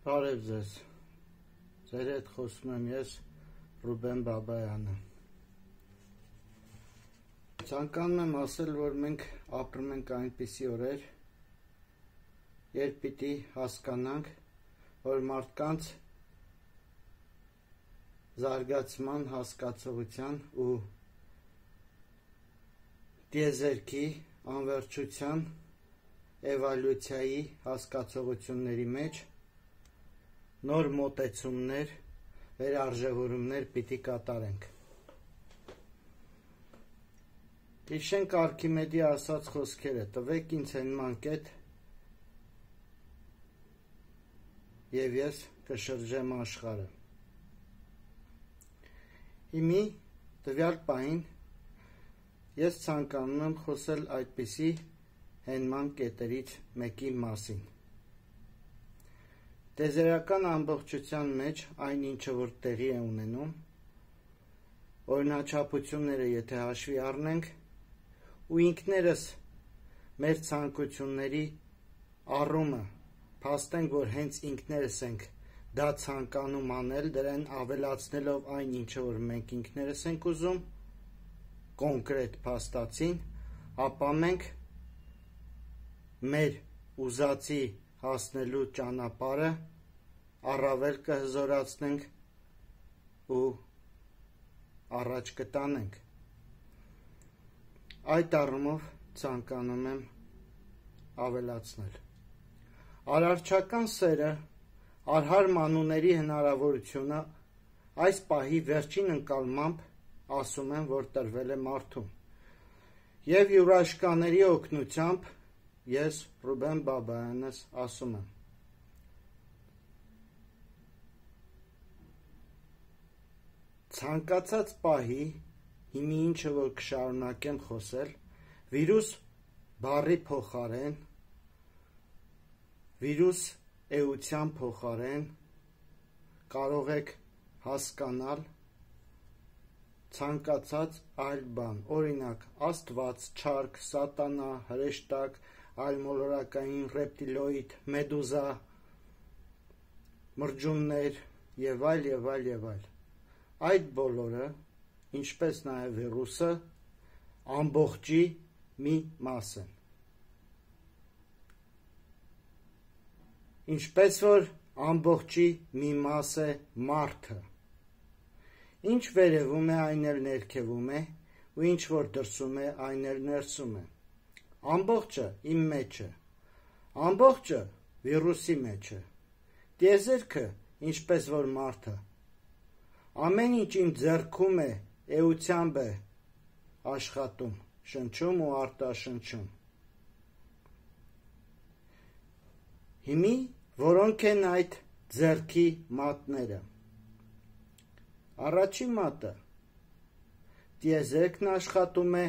Բարև ձեզ, ձեր հետ խոսում եմ ես, Ռուբեն Բաբայանը։ Ցանկանում եմ ասել, որ մենք ապրում ենք այնպիսի օրեր, երբ պիտի հասկանանք, որ մարդկանց զարգացման, հասկացողության ու տիեզերքի, անվերջության, էվոլյուցիայի հասկացողությունների մեջ նոր մոտեցումներ, վերարժևորումներ պիտի կատարենք։ Հիշենք Արքիմեդի ասած խոսքերը. տվեք ինձ հենման կետ և ես կշրջեմ աշխարհը։ Հիմի տվյալ պահին ես ցանկանում եմ խոսել այդպիսի հենման կետերից մեկի մասին։ Տիեզերական ամբողջության մեջ այն ինչը որ տեղի է ունենում, օրինաչափությունները եթե հաշվի առնենք ու ինքներս մեր ցանկությունների առումը փաստենք, որ հենց ինքներս ենք դա ցանկանում անել, դրան ավելացնելով այն ինչը որ մենք ինքներս ենք ուզում, կոնկրետ փաստացին, ապա մենք մեր ուզածի հասնելու ճանապարհը առավել կհզորացնենք ու առաջ կտանենք։ Այդ առումով ցանկանում եմ ավելացնել։ Արարչական սերը, արհար մանուների հնարավորությունը այս պահի վերջին ընկալմամբ ասում եմ, որ տրվել է մարդուն։ Եվ յուրաշկաների օգնությամբ ես Ռուբեն Բաբայանս ասում եմ. ցանկացած պահի, հիմի ինչը որ կշարունակեմ խոսել, վիրուս բառի փոխարեն, վիրուս էության փոխարեն կարող եք հասկանալ ցանկացած այլ բան, օրինակ Աստված, չարք, սատանա, հրեշտակ, այլմոլորակային, ռեպտիլոիդ, մեդուզա, մրջյուններ եւ այլ եւ այլ եւ այլ։ Այդ բոլորը, ինչպես նաև վիրուսը, ամբողջի մի մաս են։ Ինչպես որ ամբողջի մի մաս է մարդը։ Ինչ վերևում է, այն էլ ներքևում է, ու ինչ որ դրսում է, այն էլ ներսում է։ Ամբողջը իմ մեջ է։ Ամբողջը վիրուսի մեջ է։ Տիեզերքը, ինչպես որ մարդը, ամեն ինչ իմ ձեռքում է, էությամբ է աշխատում, շնչում ու արտաշնչում։ Հիմի որոնք են այդ ձեռքի մատները։ Առաջին մատը տիեզերքն աշխատում է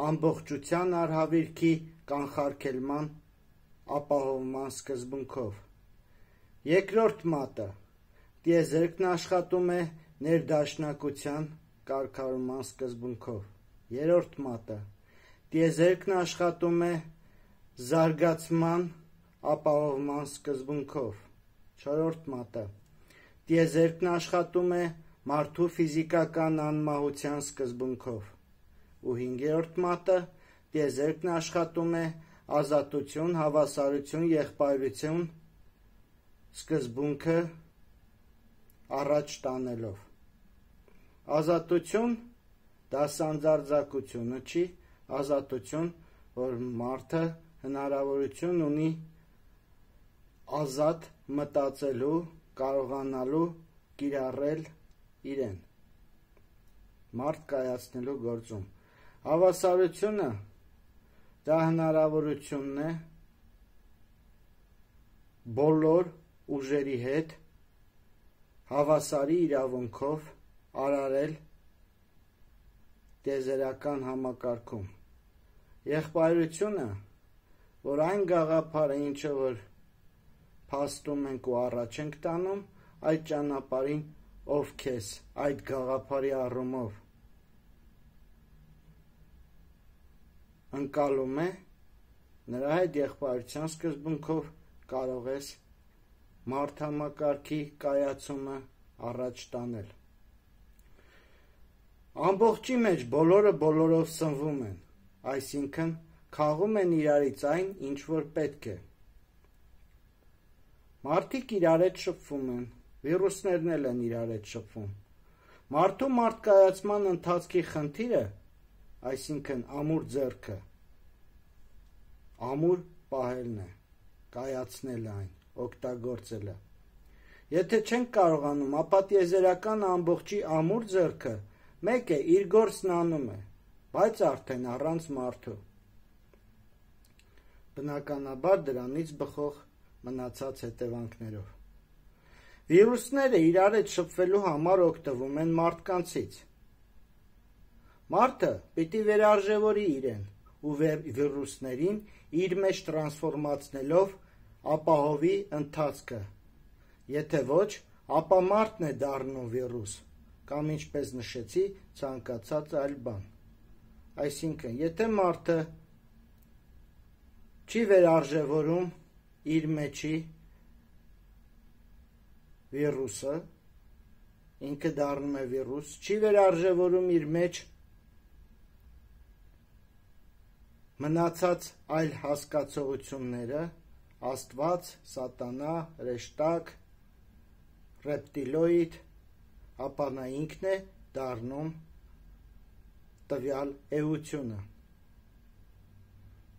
ամբողջության արհավիրքի կանխարգելման ապահովման սկզբունքով։ Երկրորդ մատը տիեզերքն աշխատում է ներդաշնակության կարգավորման սկզբունքով։ Երրորդ մատը տիեզերքն աշխատում է զարգացման ապահովման սկզբունքով։ Չորրորդ մատը տիեզերքն աշխատում է մարդու ֆիզիկական անմահության սկզբունքով։ Ու հինգերորդ մատը տիեզերքն աշխատում է ազատություն, հավասարություն, եղբայրություն սկզբունքը առաջ տանելով։ Ազատություն դա սանձարձակությունը չի, ազատություն, որ մարդը հնարավորություն ունի ազատ մտածելու, կարողանալու կիրառել իրեն մարդ կայացնելու գործում։ Հավասարությունը դա հնարավորությունն է բոլոր ուժերի հետ հավասարի իրավունքով արարել տիեզերական համակարգում։ Եղբայրությունը, որ այն գաղափարը, ինչը որ փաստում ենք ու առաջ ենք տանում, այդ ճանապարհին ով քեզ այդ գաղափարի առումով ընկալում է, նրա հետ եղբայրության սկզբունքով կարող ես մարդհամակարգի կայացումը առաջ տանել։ Ամբողջի մեջ բոլորը բոլորով սնվում են, այսինքն քաղում են իրարից այն, ինչ որ պետք է։ Մարդիկ իրար հետ շփվում են, վիրուսներն էլ են իրար հետ շփվում։ Մարդու մարդկայացման ընթացքի խնդիրը, այսինքն ամուր ձեռքը, ամուր պահելն է, կայացնելը այն, օգտագործելը։ Եթե չենք կարողանում, ապա տիեզերական ամբողջի ամուր ձեռքը մեկ է, իր գործն անում է, բայց արդեն առանց մարդու։ Բնականաբար դրանից բխող մնացած հետևանքներով։ Վիրուսները իրար հետ շփվելու համար օգտվում են մարդկանցից։ Մարդը պիտի վերարժևորի իրեն ու վիրուսներին իր մեջ տրանսֆորմացնելով ապահովի ընթացքը։ Եթե ոչ, ապա մարդն է դառնում վիրուս, կամ ինչպես նշեցի, ցանկացած այլ բան։ Այսինքն, եթե մարդը չի վերարժևորում իր մեջի վիրուսը, ինքը դառնում է վիրուս, չի վերարժևորում իր մեջ մնացած այլ հասկացողությունները, Աստված, սատանա, հրեշտակ, ռեպտիլոիդ, ապա նա ինքն է դառնում տվյալ էությունը։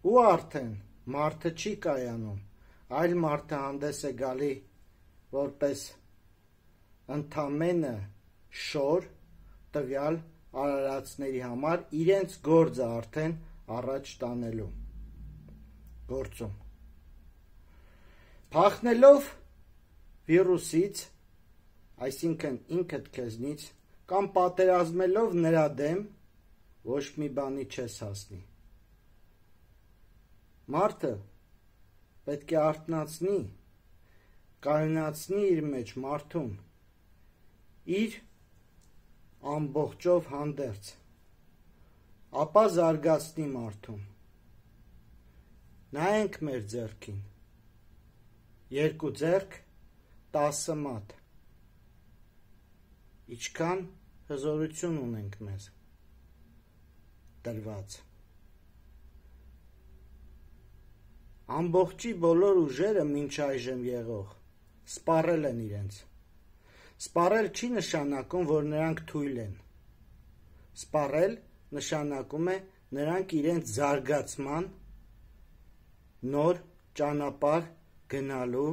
Ու արդեն մարդը չի կայանում, այլ մարդը հանդես է գալի որպես ընդամենը շոր տվյալ արարածների համար իրենց գործը արդեն առաջ տանելու գործում։ Փախնելով վիրուսից, այսինքն ինքդ քեզնից, կամ պատերազմելով նրա դեմ, ոչ մի բանի չես հասնի։ Մարդը պետք է արթնացնի, կայունացնի իր մեջ մարդուն, իր ամբողջով հանդերձ, ապա զարգացնի մարդուն։ Նայենք մեր ձեռքին, 2 ձեռք, 10 մատ, ինչքան հզորություն ունենք մեզ տրված։ Ամբողջի բոլոր ուժերը մինչ այժմ եղող սպառել են իրենց։ Սպառել չի նշանակում, որ նրանք թույլ են։ Սպառել նշանակում է նրանք իրենց զարգացման նոր ճանապարհ գնալու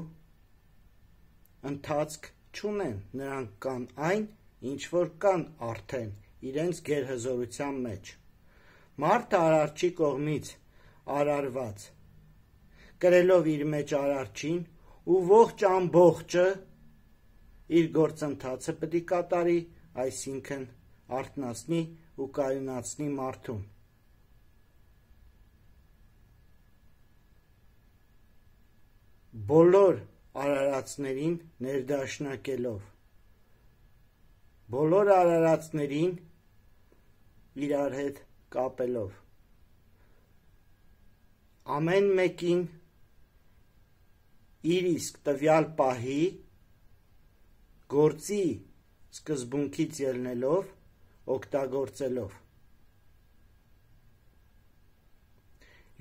ընթացք չունեն, նրանք կան այն, ինչ որ կան արդեն իրենց գերհզորության մեջ։ Մարդը արարչի կողմից արարված, կրելով իր մեջ արարչին ու ողջ ամբողջը իր գործընթացը պետք է կատարի, այսինքն արթնացնի ու կայունացնի մարդուն։ Բոլոր արարածներին ներդաշնակելով, բոլոր արարածներին իրար հետ կապելով, ամեն մեկին իր իսկ տվյալ պահի գործի սկզբունքից ելնելով, օգտագործելով։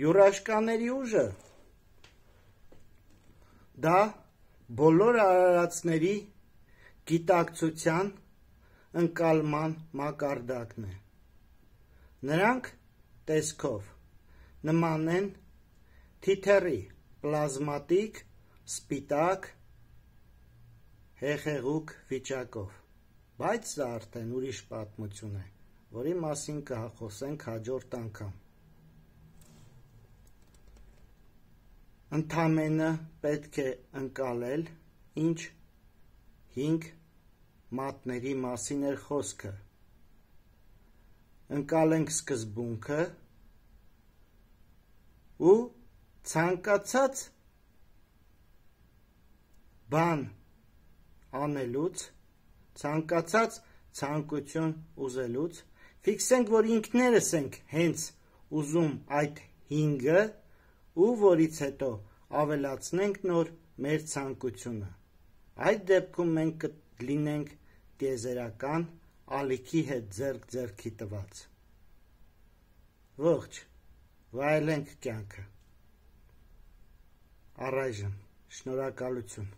Յուրաշկաների ուժը դա բոլոր արարածների գիտակցության ընկալման մակարդակն է։ Նրանք տեսքով նման են թիթեռի, պլազմատիկ, սպիտակ, հեղեղուկ վիճակով, բայց սա արդեն ուրիշ պատմություն է, որի մասին կխոսենք հաջորդ անգամ։ Ընդամենը պետք է ընկալել, ինչ 5 մատների մասին էր խոսքը։ Ընկալենք սկզբունքը ու ցանկացած բան անելուց, ցանկացած ցանկություն ուզելուց, ֆիքսենք, որ ինքներս ենք հենց ուզում այդ 5-ը ու որից հետո ավելացնենք նոր մեր ցանկությունը, Այդ դեպքում մենք կլինենք տիեզերական ալիքի հետ ձեռք-ձեռքի տված։ Ողջ, վայելենք կյանքը։ Առայժմ, շնորհակալություն։